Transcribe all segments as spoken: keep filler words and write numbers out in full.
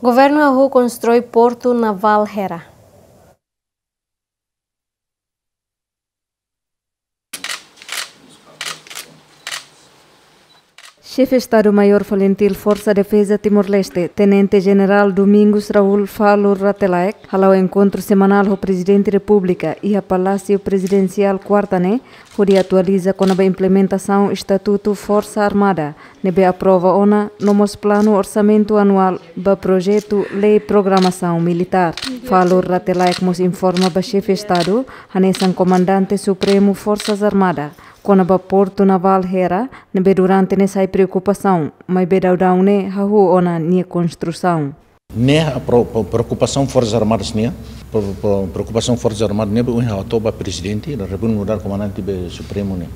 Governu hahú konstrui Portu Navál Hera. Xefe Estadu-Maiór Falintil Forsa Defeza Timor-Leste, Tenente Jenerál Domingos Raul Falur Rate Laek, hala'o enkontru semanál ho Prezidente Repúblika iha Palásiu Prezidensiál kuarta ne'e, hodi atualiza kona-ba implementasaun Estatutu Forsa Armada ne'ebé aprova ona, no mós planu orsamentu anuál ba projetu lei programasaun militár. Falur Rate Laek mós informa ba Xefe Estadu, hanesan Komandante Supremu Forsas Armada, kona-ba Portu Navál Hera ne'ebé durante ne'e sai preokupasaun, maibé daudaun ne'e hahú ona nia konstrusaun. Ne'e pro-, pro-, preokupasaun Forsas Armadas nian, pro-, pro-, preokupasaun Forsas Armadas ne'e be ohin ha'u hato'o ba Prezidente da Repúblika nu'udar Komandante be Supremu ne'e.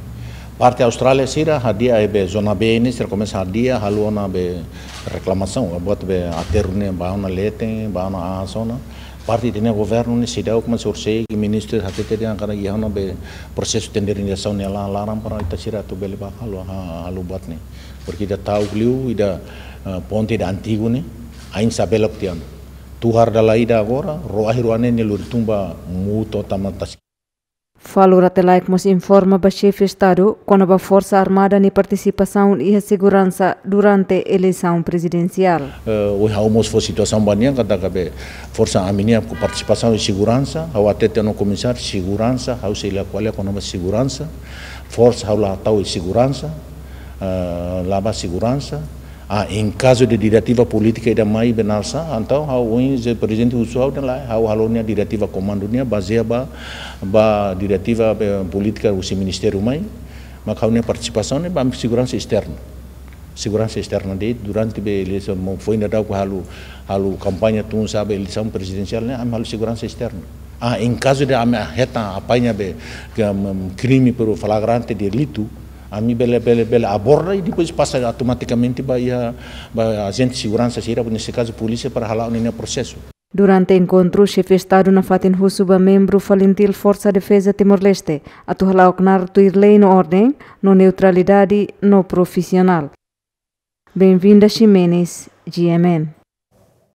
Parte Austrália sira hadi'a be zona B ne'e, sira komesa hadi'a, halo ona be reklamasaun, buat be aterru ne'e ba ona leten, ba ona aas ona. Parte ita-nia governu ne'e seidauk, mas orsida ministru hatete dehan katak iha ona be prosesu tenderizasaun ne'e la-, laran para ita sira atu bele ba halo, ha-, halo buat ne'e. Porke ita ta'uk liu ida, eh, ponte ida antigu ne'e, ain sa belok tiha ona. Tuhar dala ida agora, ró ahi rua ne'e nia lori tun ba muto tama tas. Falur Rate Laek mós informa ba Xefe Estadu kona-ba Forsa Armada nia partisipasaun iha seguransa durante eleisaun prezidensiál. Eh, ohin ha'u mós fó situasaun ba nia katak be forsa ami-nia partisipasaun iha seguransa, ha'u hatete ona komisáriu seguransa, ha'u sei la ko'alia kona-ba seguransa, forsa ha'u la tau iha seguransa, eh, la ba seguransa. Ah, em caso de diretiva polítika ida mai be nasa, entaun ha'u ohin se Prezidente husu ha'u dehan lae, ha'u halo nia diretiva komandu nian bazeia ba, ba diretiva be polítika husi ministériu mai, mak ha'u-nia partisipasaun ne'e ba ami seguransa esterna. Seguransa esterna de'it durante be eleisaun, mo foin daudauk halo, halo kampaña tun sá be eleisaun prezidensiál ne'e, ami halo seguransa esterna. Ah, em caso de ami hetan apanha be, ke, um, krime por flagrante delitu, ami bele, bele, bele aborda i depois pasa automatikamente ba iha, ba ajente seguransa sira, neste caso polísia, para hala'o ninia prosesu. Durante enkontru, Xefe Estadu nafatin husu ba membru Falintil Forsa Defeza Timor-Leste atu hala'o knaar tuir lei no orden, no neutralidade no profisionál. Benvinda Ximenes, G M N.